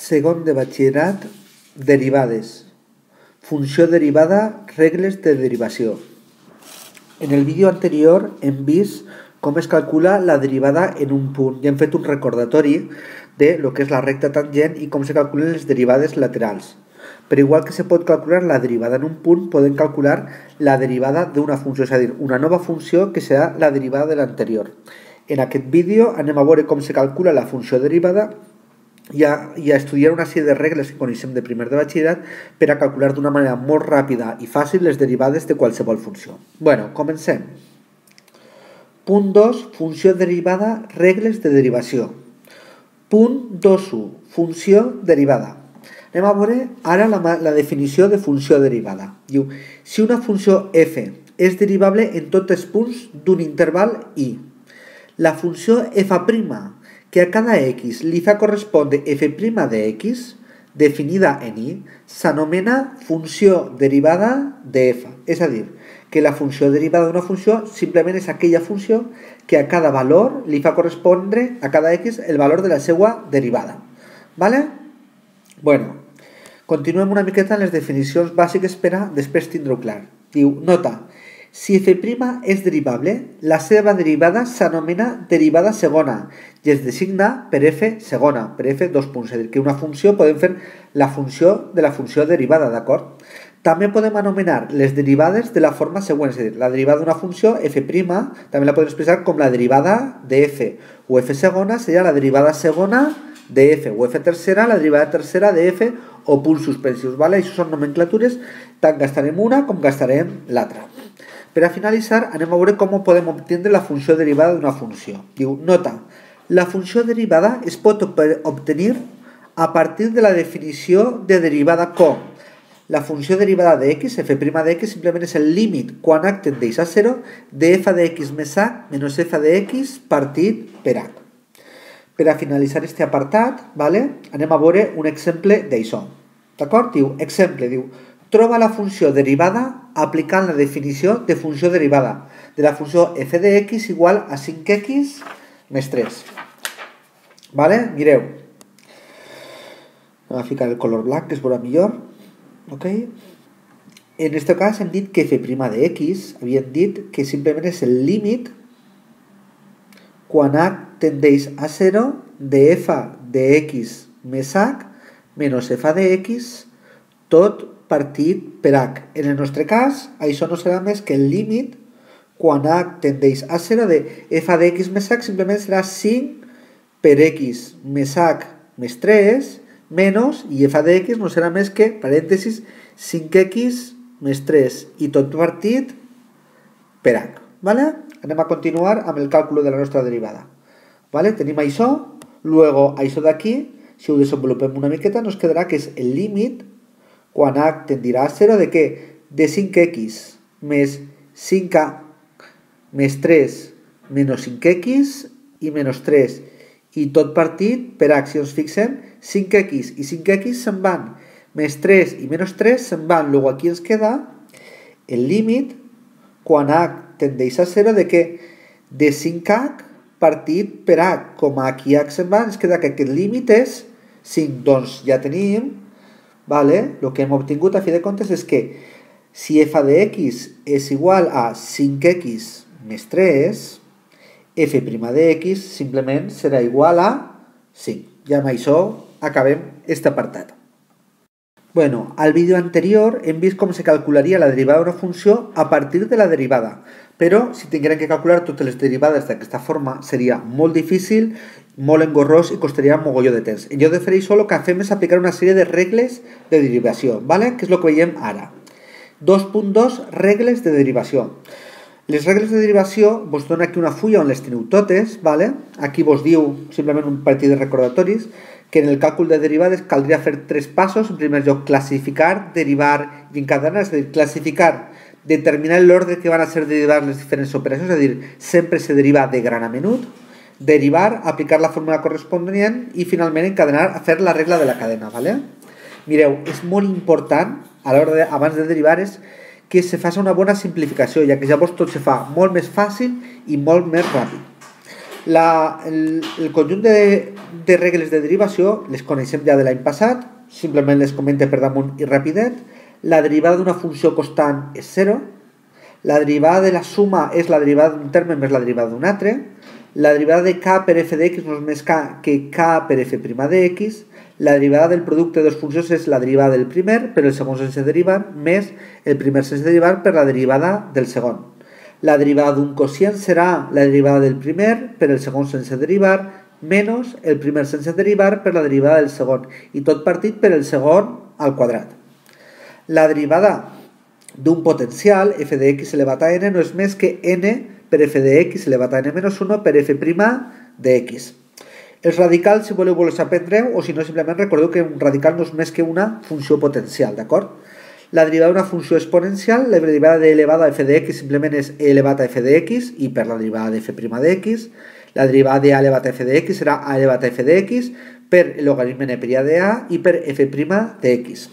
Segon de batxillerat, derivades. Funció derivada, regles de derivació. En el vídeo anterior hem vist com es calcula la derivada en un punt i hem fet un recordatori de lo que és la recta tangent i com se calculen les derivades laterals. Però igual que se pot calcular la derivada en un punt, podem calcular la derivada d'una funció, és a dir, una nova funció que serà la derivada de l'anterior. En aquest vídeo anem a veure com se calcula la funció derivada i a estudiar una sèrie de regles que coneixem de primer de batxillerat per a calcular d'una manera molt ràpida i fàcil les derivades de qualsevol funció. Bueno, comencem. Punt 2, funció derivada, regles de derivació. Punt 2.1, funció derivada. Anem a veure ara la definició de funció derivada. Diu, si una funció f és derivable en tots els punts d'un interval i, la funció f', que a cada x li fa correspondre f' de x, definida en i, s'anomena funció derivada de f. És a dir, que la funció derivada d'una funció simplement és aquella funció que a cada valor li fa correspondre a cada x el valor de la seva derivada. Vale? Bueno, continuem una miqueta en les definicions bàsiques per a després tindre-ho clar. Diu, nota, si f' és derivable, la seva derivada s'anomena derivada segona i es designa per f segona, per f dos punts. És a dir, que una funció podem fer la funció de la funció derivada, d'acord? També podem anomenar les derivades de la forma següent, és a dir, la derivada d'una funció f', també la podem expressar com la derivada de f, o f segona seria la derivada segona de f, o f tercera, la derivada tercera de f, o punts suspensius, ¿vale? Això són nomenclatures, tant gastarem una com gastarem l'altra. Per a finalitzar, anem a veure com podem obtenir la funció derivada d'una funció. Diu, nota, la funció derivada es pot obtenir a partir de la definició de derivada com la funció derivada de x, f' de x, simplement és el límit quan h tendeix a 0 de f de x més h menys f de x partit per h. Per a finalitzar aquest apartat, ¿vale? Anem a veure un exemple d'això. D'acord? Diu, exemple, diu, troba la funció derivada aplicant la definició de funció derivada de la funció f de x igual a 5x més 3. ¿Vale? Mireu. Anem a ficar el color blanc, que es veurà millor. Okay. En aquest cas hem dit que f' de x, havíem dit que simplement és el límit quan h tendeix a 0 de f de x més h menys f de x tot partit per h. En el nostre cas, això no serà més que el límit quan h tendeix a 0 de f de x més h simplement serà 5 per x més h més 3 menys, i f de x no serà més que, parèntesis, 5x més 3 i tot partit per h. ¿Vale? Anem a continuar amb el càlcul de la nostra derivada. ¿Vale? Tenim això, luego això d'aquí, si ho desenvolupem una miqueta, nos quedarà que és el límit quan h tendirà a 0 de què? De 5x més 5h més 3 menys 5x i menys 3 i tot partit per h. Si ens fixem, 5x i 5x se'n van, més 3 i menys 3 se'n van. Luego aquí ens queda el límit quan h tendeix a 0 de què? De 5h partit per h. Com aquí h se'n va, ens queda que aquest límit és 5. Doncs ja tenim, vale? El que hem obtingut a fi de comptes és que si f de x és igual a 5x més 3, f' de x simplement serà igual a 5. I amb això acabem aquest apartat. Bueno, al vídeo anterior hem vist com se calcularia la derivada d'una funció a partir de la derivada, però si tinguérem que calcular totes les derivades d'aquesta forma seria molt difícil, molt engorrós i costaria un mogolló de temps. En lloc de fer això, el que fem és aplicar una sèrie de regles de derivació, ¿vale? Que és el que veiem ara. 2.2 regles de derivació. Les regles de derivació vos dono aquí una fulla on les teniu totes, ¿vale? Aquí vos diu simplement un partit de recordatoris que en el càlcul de derivades caldria fer 3 passos. En primer lloc, classificar, derivar i encadenar, és a dir, classificar, determinar l'ordre que van a ser derivades les diferents operacions, és a dir, sempre se deriva de gran a menut, derivar, aplicar la fórmula corresponent i finalment encadenar a fer la regla de la cadena, ¿vale? Mireu, és molt important a l'hora abans de derivar és que se faci una bona simplificació, ja que llavors tot se fa molt més fàcil i molt més ràpid. El conjunt de regles de derivació les coneixem ja de l'any passat, simplement les comente per damunt i rapidet. La derivada d'una funció constant és 0, la derivada de la suma és la derivada d'un terme més la derivada d'un altre, la derivada de k per f de x no és més que k per f' de x, la derivada del producte de dues funcions és la derivada del primer per el segon sense derivar més el primer sense derivar per la derivada del segon. La derivada d'un quocient serà la derivada del primer per el segon sense derivar menys el primer sense derivar per la derivada del segon i tot partit per el segon al quadrat. La derivada d'un potencial f de x elevat a n no és més que n per f de x elevat a n menys 1 per f' de x. Els radicals, si voleu, els aprendreu, o si no, simplement recordeu que un radical no és més que una funció potencial, d'acord? La derivada d'una funció exponencial, la derivada de elevada a f de x simplement és e elevat a f de x i per la derivada de f' de x. La derivada de a elevat a f de x serà a elevat a f de x per el logaritme neperià de a i per f' de x.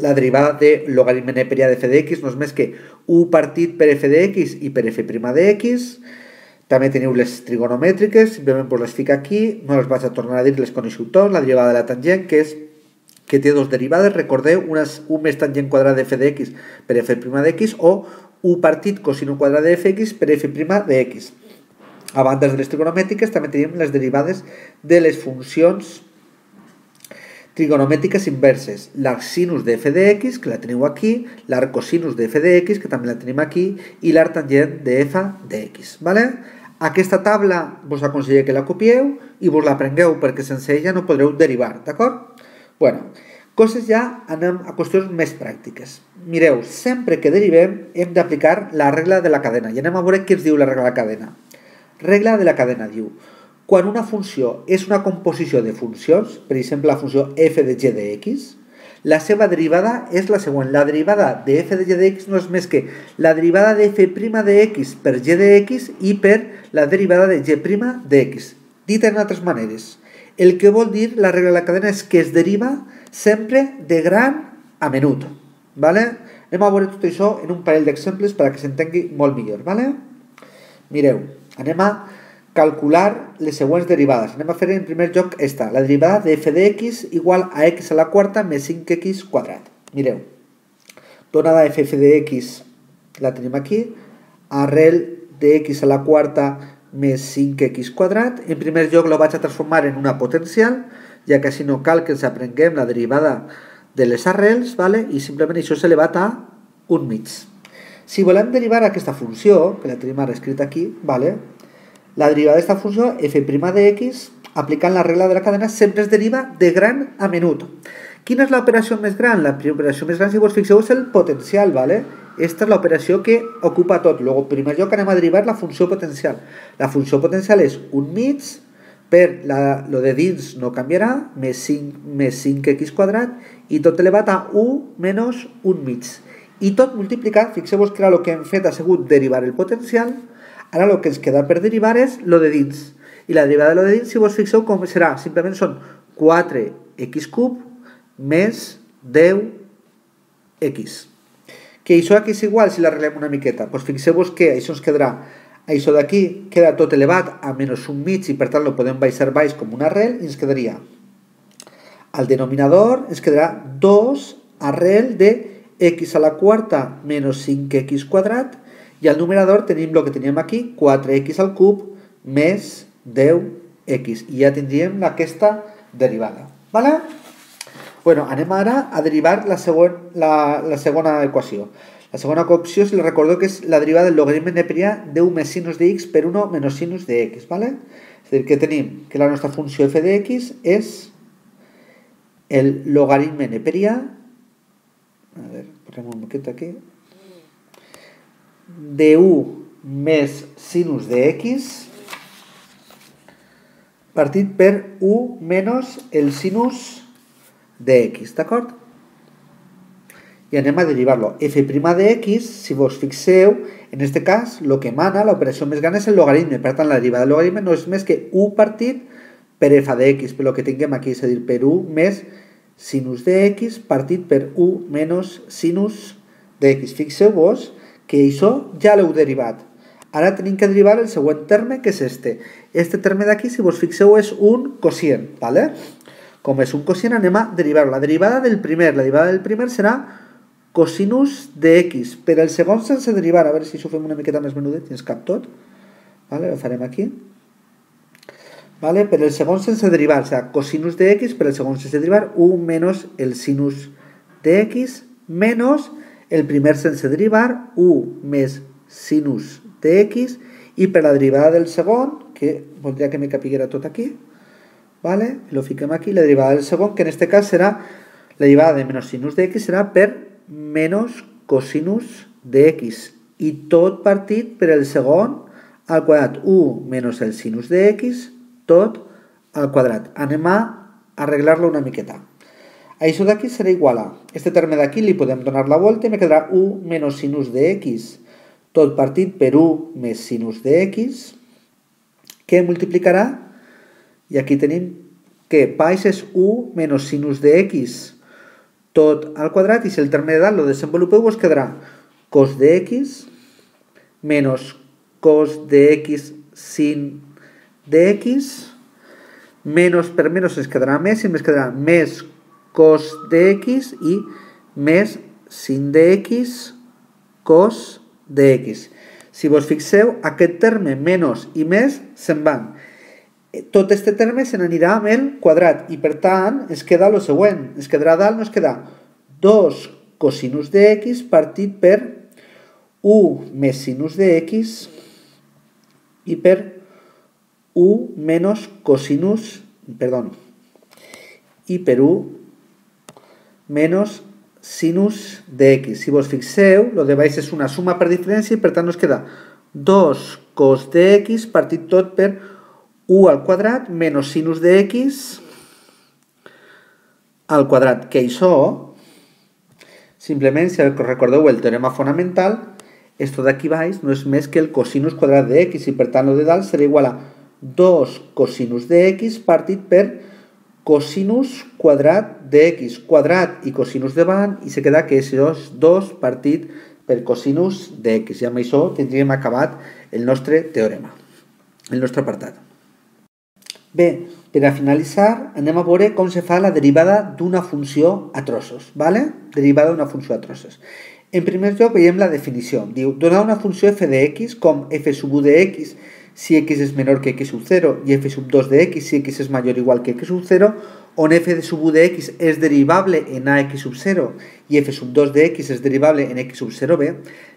La derivada de logaritme neperià de f de x no és més que u partit per f de x i per f' de x. També teniu les trigonomètriques, simplement les fico aquí, no les vaig a tornar a dir, les coneixeu tots. La derivada de la tangent, que té dos derivades, recordeu, una és u més tangent quadrat de f de x per f' de x o u partit cosino quadrat de fx per f' de x. A banda de les trigonomètriques també tenim les derivades de les funcions trigonomètriques inverses, l'arc sinus de f de x, que la teniu aquí, l'arc cosinus de f de x, que també la tenim aquí, i l'arc tangent de f de x. ¿Vale? Aquesta taula vos aconsello que la copieu i vos la aprengueu perquè sense ella no podreu derivar, d'acord? Bueno, coses ja anem a qüestions més pràctiques. Mireu, sempre que derivem hem d'aplicar la regla de la cadena i anem a veure què ens diu la regla de la cadena. Regla de la cadena diu: quan una funció és una composició de funcions, per exemple la funció f de g de x, la seva derivada és la següent. La derivada de f de g de x no és més que la derivada de f' de x per g de x i per la derivada de g' de x. Dit en altres maneres, el que vol dir la regla de la cadena és que es deriva sempre de gran a menut. ¿Vale? Anem a veure tot això en un parell d'exemples perquè s'entengui molt millor. ¿Vale? Mireu, anem a calcular les següents derivades. Anem a fer en primer lloc esta, la derivada de f de x igual a x a la quarta més 5x quadrat. Mireu, donada f de x la tenim aquí, arrel de x a la quarta més 5x quadrat. En primer lloc la vaig a transformar en una potencial, ja que així no cal que ens aprenguem la derivada de les arrels, ¿vale? I simplement això és elevat a 1 mig. Si volem derivar aquesta funció, que la tenim ara escrita aquí, ¿vale? La derivada d'esta funció, f' de x, aplicant la regla de la cadena, sempre es deriva de gran a menut. Quina és l'operació més gran? La operació més gran, si vos fixeu, és el potencial, ¿vale? Esta és l'operació que ocupa tot. Luego, en primer lloc, anem a derivar la funció potencial. La funció potencial és 1 mig, per lo de dins no canviarà, més 5x quadrat, i tot elevat a 1 menys 1 mig. I tot multiplicat, fixeu-vos que ara el que hem fet ha sigut derivar el potencial. Ara el que ens queda per derivar és lo de dins. I la derivada de lo de dins, si vos fixeu com serà, simplement són 4x cub més 10x. Que això aquí és igual si l'arreglem una miqueta. Doncs fixeu-vos que això ens quedarà, això d'aquí queda tot elevat a menys 1 mig i per tant lo podem baixar baix com una arrel i ens quedaria al denominador ens quedarà 2 arrel de x a la quarta menys 5x quadrat. I al numerador tenim el que teníem aquí, 4x al cub més 10x. I ja tindríem aquesta derivada. ¿Vale? Bueno, anem ara a derivar la segona equació. La segona equació, si la recordo, que és la derivada del logaritme neperià de 1 més sinus de x per 1 menys sinus de x. ¿Vale? És a dir, que tenim que la nostra funció f de x és el logaritme neperià. A veure, posem un poquet aquí. De 1 més sinus de x partit per 1 menys el sinus de x, d'acord? I anem a derivar-lo. f' de x, si vos fixeu, en aquest cas, el que mana, l'operació més gran és el logaritme. Per tant, la derivada del logaritme no és més que 1 partit per f de x, per el que tinguem aquí, és a dir, per 1 més sinus de x partit per 1 menys sinus de x. Fixeu-vos que això ja l'heu derivat. Ara tenim que derivar el següent terme, que és este. Este terme d'aquí, si vos fixeu, és un quocient, ¿vale? Com és un quocient, anem a derivar-ho. La derivada del primer serà cosinus de x. Per el segon sense derivar, a veure si ho fem una miqueta més menudet, i ens cap tot. ¿Vale? Ho farem aquí. ¿Vale? Per el segon sense derivar, o sigui, cosinus de x, per el segon sense derivar, 1 menys el sinus de x, menys el primer sense derivar, 1 més sinus de x, i per la derivada del segon, que voldria que me capiguera tot aquí, ¿vale? Lo fiquem aquí, la derivada del segon, que en este cas serà, la derivada de menys sinus de x serà per menys cosinus de x, i tot partit per el segon al quadrat, 1 menys el sinus de x, tot al quadrat. Anem a arreglar-lo una miqueta. Això d'aquí serà igual a, este terme d'aquí li podem donar la volta i me quedarà 1 menys sinus de x, tot partit per 1 més sinus de x, que multiplicarà, i aquí tenim que baix és 1 menys sinus de x, tot al quadrat, i si el terme de dalt lo desenvolupeu, us quedarà cos de x menys cos de x sin de x, menys per menys ens quedarà més, i ens quedarà més cos de x i més sin de x cos de x. Si vos fixeu, aquest terme menys i més se'n van. Tot este terme se n'anirà amb el quadrat i per tant ens queda el següent. Ens quedarà dalt, ens queda 2 cosinus de x partit per 1 més sinus de x i per 1 menys cosinus, perdó, i per 1 menys sinus de x. Si vos fixeu, lo de baix és una suma per diferència i per tant ens queda 2 cos de x partit tot per 1 al quadrat menys sinus de x al quadrat. Que això, simplement, si recordeu el teorema fonamental, esto d'aquí baix no és més que el cosinus quadrat de x i per tant lo de dalt serà igual a 2 cosinus de x partit per cosinus quadrat de x, quadrat i cosinus davant, i se queda que és 2 partit per cosinus de x. I amb això tindríem acabat el nostre teorema, el nostre apartat. Bé, per a finalitzar, anem a veure com se fa la derivada d'una funció a trossos, ¿vale? Derivada d'una funció a trossos. En primer lloc veiem la definició. Diu, donar una funció f de x com f sub 1 de x si x és menor que x sub 0 i f sub 2 de x si x és major o igual que x sub 0, on f de sub 1 de x és derivable en ax sub 0 i f sub 2 de x és derivable en x sub 0b,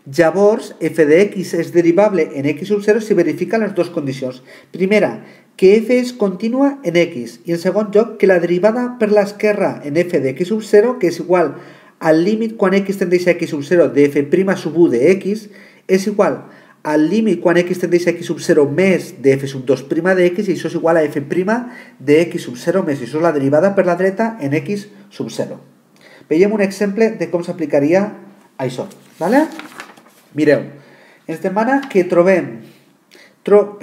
llavors f de x és derivable en x sub 0 si verifica les dues condicions. Primera, que f és contínua en x, i en segon lloc, que la derivada per l'esquerra en f de x sub 0, que és igual al límit quan x tendeix a x sub 0 de f' sub 1 de x, és igual al límit quan x tendeix a x sub 0 més de f sub 2' de x, i això és igual a f' de x sub 0 més, i això és la derivada per la dreta en x sub 0. Veiem un exemple de com s'aplicaria això, ¿vale? Mireu, ens demana que trobem, troba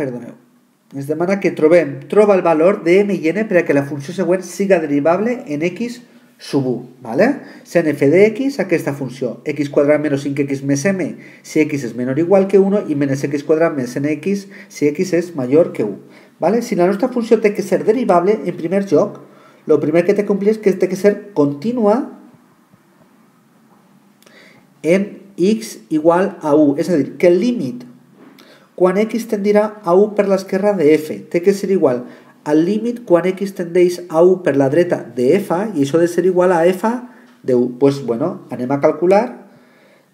el valor de m i n per a que la funció següent siga derivable en x sub 1, ¿vale? Sent f de x aquesta funció, x quadrat menys 5x més m, si x és menor o igual que 1, i menys x quadrat més nx, si x és major que 1, ¿vale? Si la nostra funció té que ser derivable, en primer lloc, el primer que té que complir és que té que ser contínua en x igual a 1, és a dir, que el límit quan x tendirà a 1 per l'esquerra de f té que ser igual al límit quan x tendeix a 1 per la dreta de f, i això ha de ser igual a f de 1. Doncs, bueno, anem a calcular,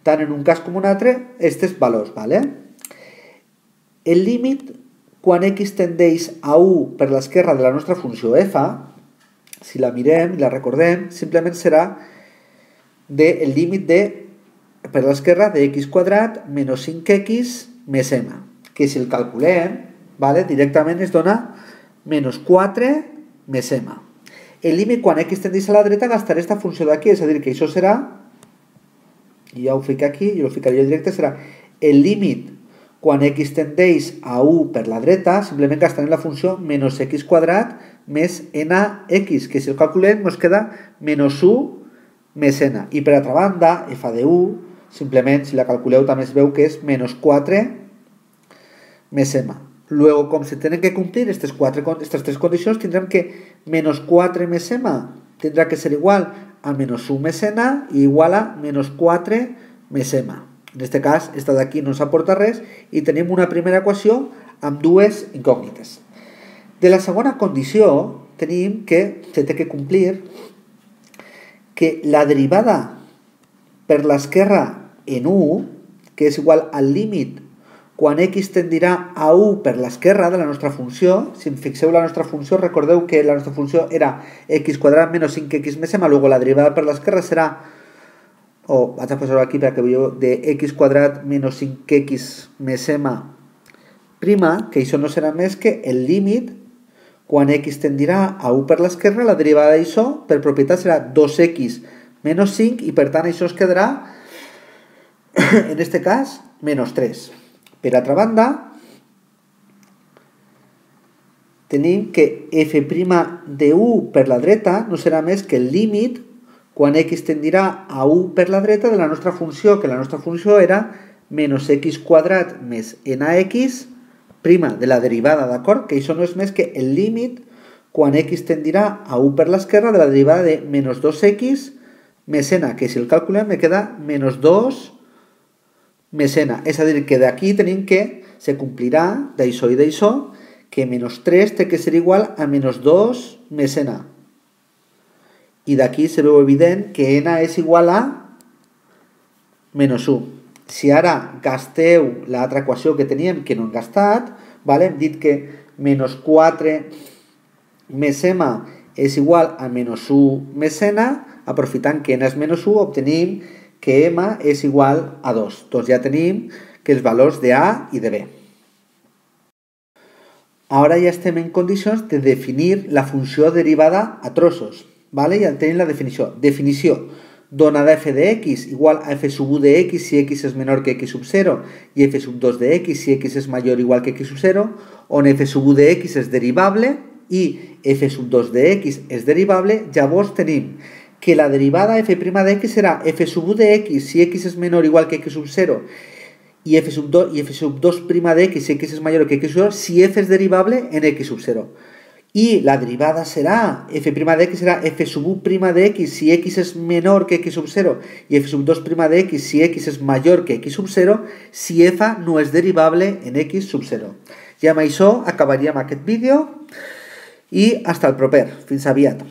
tant en un cas com un altre, aquests valors, ¿vale? El límit quan x tendeix a 1 per l'esquerra de la nostra funció f, si la mirem i la recordem, simplement serà el límit per l'esquerra de x quadrat menys 5x més m, que si el calculem, ¿vale? Directament es dona menys 4 més m. El límit quan x tendeix a la dreta gastaré aquesta funció d'aquí, és a dir, que això serà, i ja ho fico aquí, i ho ficaré jo directe, serà el límit quan x tendeix a 1 per la dreta, simplement gastarem la funció menys x quadrat més nx, que si el calculem ens queda menys 1 més n. I per altra banda, f de 1, simplement, si la calculeu també es veu que és menys 4 més m. Luego, com se tenen que complir aquestes tres condicions, tindrem que menos 4 més m tindrà que ser igual a menos 1 més n i igual a menos 4 més m. En aquest cas, esta d'aquí no ens aporta res i tenim una primera equació amb dues incògnites. De la segona condició, tenim que se té que complir que la derivada per l'esquerra en 1, que és igual al límit quan x tendirà a 1 per l'esquerra de la nostra funció, si fixeu la nostra funció, recordeu que la nostra funció era x quadrat menys 5x més m, luego la derivada per l'esquerra serà, vaig a posar-ho aquí perquè veieu, de x quadrat menys 5x més m prima, que això no serà més que el límit quan x tendirà a 1 per l'esquerra, la derivada d'això per propietat serà 2x menys 5 i per tant això es quedarà, en aquest cas, menys 3. Per altra banda, tenim que f' de 1 per la dreta no serà més que el límit quan x tendirà a 1 per la dreta de la nostra funció, que la nostra funció era menys x quadrat més nx prima de la derivada, d'acord? Que això no és més que el límit quan x tendirà a 1 per l'esquerra de la derivada de menys 2x més n, que si el calculem me queda menys 2 més n. És a dir, que d'aquí tenim que se complirà d'això i d'això, que menys 3 té que ser igual a menys 2 més n. I d'aquí se veu evident que n és igual a menys 1. Si ara gasteu l'altra equació que teníem que no hem gastat, hem dit que menys 4 més m és igual a menys 1 més n, aprofitant que n és menys 1, obtenim que m és igual a 2. Doncs ja tenim que els valors de a i de b. Ara ja estem en condicions de definir la funció derivada a trossos. Ja tenim la definició. Definició. Donada f de x igual a f sub 1 de x si x és menor que x sub 0 i f sub 2 de x si x és major o igual que x sub 0, on f sub 1 de x és derivable i f sub 2 de x és derivable, llavors tenim que la derivada f' de x serà f sub 1 de x si x és menor o igual que x sub 0 i f sub 2 de x si x és major que x sub 0 si f és derivable en x sub 0. I la derivada serà, f' de x serà f sub 1' de x si x és menor que x sub 0 i f sub 2' de x si x és major que x sub 0 si f no és derivable en x sub 0. I amb això acabaríem aquest vídeo i fins el proper. Fins aviat.